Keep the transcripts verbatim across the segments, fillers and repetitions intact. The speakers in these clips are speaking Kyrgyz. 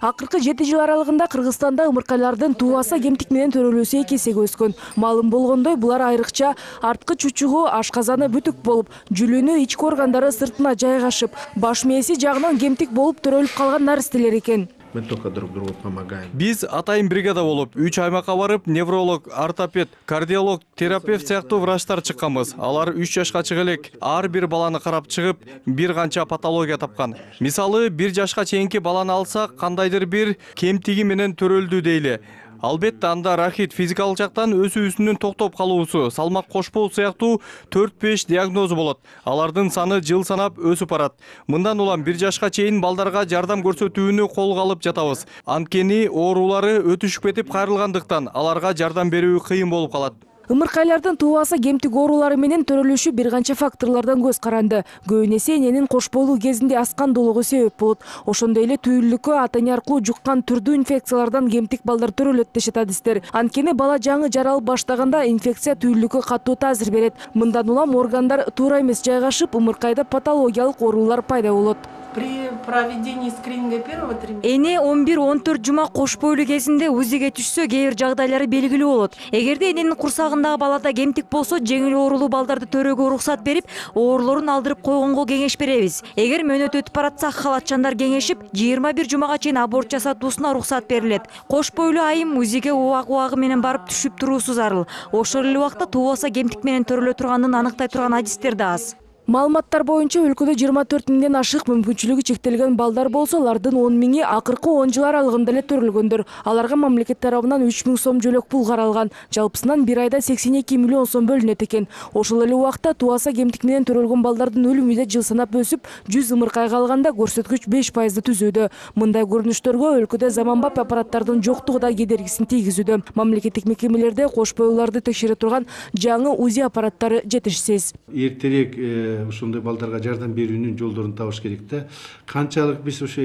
Акыркы жети жыл аралыгында Кыргызстанда ымыркайлардын туубаса кемтик менен төрөлүүсү эки эсеге өскөн. Маалым болгондой, булар айрыкча арткы чучугу, ашказаны бүтүк болуп, жүлүнү, ички органдары сыртына жайгашып, баш мээси жагынан кемтик болуп төрөлүп калган наристелер экен. Мы только друг другу помогаем. Биз атайын бригада болуп, үч аймакка барып, невролог, ортопед, кардиолог, терапевт сыяктуу врачтар чыкканбыз. Алар үч жашка чыга элек ар бир баланы карап чыгып, бир канча патология тапкан. Мисалы, бир жашка чейинки баланы алсак, кандайдыр бир кемтиги менен төрөлдү дейли. Албетте анда рахит, физикалык жактан өсүүсүнүн токтоп калуусу, салмак кошпоо сыяктуу төрт беш диагнозу болот. Алардын саны жыл санап өсүп барат. Мындан улам бир жашка чейин балдарга жардам көрсөтүүнү колго алып жатабыз. Анткени оорулары өтүшүп кетип кайрылгандыктан аларга жардам берүү кыйын болуп калат. Ымыркайлардын туубаса кемтик оорулары менен төрөлүшү бир канча факторлордон көз каранды. Көбүн эсе эненин кош бойлуу кезинде аскандуулугу себеп болот. Ошондой эле түйүлдүккө ата эне аркылуу жуккан түрдүү инфекциялардан кемтик балдар төрөлөт дешет адистер. Анткени бала жаңы жаралып баштаганда инфекция түйүлдүккө катуу таасир берет. Мындан улам органдар туура эмес жайгашып, ымыркайда патологиялык оорулар пайда болот. При проведении скрининга первого триместра эне он бир он төрт жума кош бойлуу кезинде УЗИге түшсө, кээ бир жагдайлары белгилүү болот. Эгерде эненин курсагындагы балада кемтик болсо, жеңил оорулуу балдарды төрөөгө уруксат берип, оорулорун алдырып койгонго кеңеш беребиз. Эгер мөөнөт өтүп баратса, халатчандар кеңешип, жыйырма бир жумага чейин аборт жасатуусуна уруксат берилет. Кош бойлуу айым УЗИге убак убагы менен барып түшүп туруусу зарыл. Ошол эле убакта туубаса кемтик менен төрөлө турганын аныктай турган адистер да аз. Маалыматтар боюнча өлкөдө жыйырма төрт миңден ашык мүмкүнчүлүгү чектелген балдар болсо, алардын он миңи акыркы он жыл аралыгында эле төрөлгөндөр. Аларга мамлекет тарабынан үч миң сом жөлөк пул каралган. Жалпысынан бир айда сексен эки миллион сом бөлүнөт экен. Ошол эле убакта туубаса кемтик менен төрөлгөн балдардын өлүмү да жыл санап өсүп, жүз ымыркайга алганда көрсөткүч беш пайызды түзүүдө. Мындай көрүнүштөргө өлкөдө заманбап аппараттардын жоктугу да кедергисин тийгизүүдө. Мамлекеттик мекемелерде кош бойлууларды текшере турган жаңы УЗИ аппараттары жетишсиз. Эртерээк ошондой балдарга жардам берүүнүн жолдорун табыш керек да. Канчалык биз ошо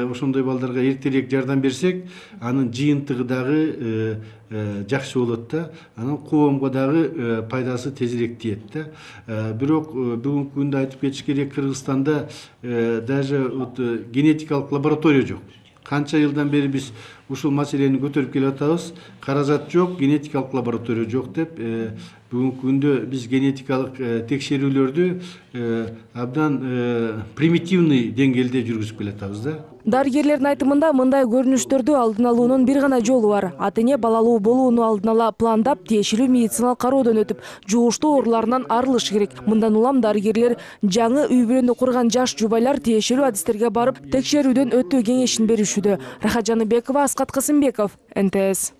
ошондой балдарга эртерээк жардам берсек, анын жыйынтыгы дагы жакшы болот да. Анан коомго дагы пайдасы тезирээк тиет да. Бирок бүгүнкү күндө айтып кетиш керек, Кыргызстанда даже генетикалык лаборатория жок. Канча жылдан бери биз ушул маселени көтөрүп келип атабыз. Каражат жок, генетикалык лаборатория жок деп, бүгүнкү күндө биз генетикалык текшерүүлөрдү абдан примитивный деңгээлде жүргүзүп келатабыз да. Дарыгерлердин айтымында, мындай көрүнүштөрдү алдын алуунун бир гана жолу бар. Ата эне балалуу болууну алдын ала пландап, тиешелүү медициналык кароодон өтүп, жугуштуу ооруларынан арылыш керек. Мындан улам дарыгерлер жаңы үй бүлөнү курган жаш жубайлар тиешелүү адистерге барып, текшерүүдөн өтүү кеңешин беришүүдө. Рахат Жаныбекова, Аскат Касымбеков, эн тэ эс.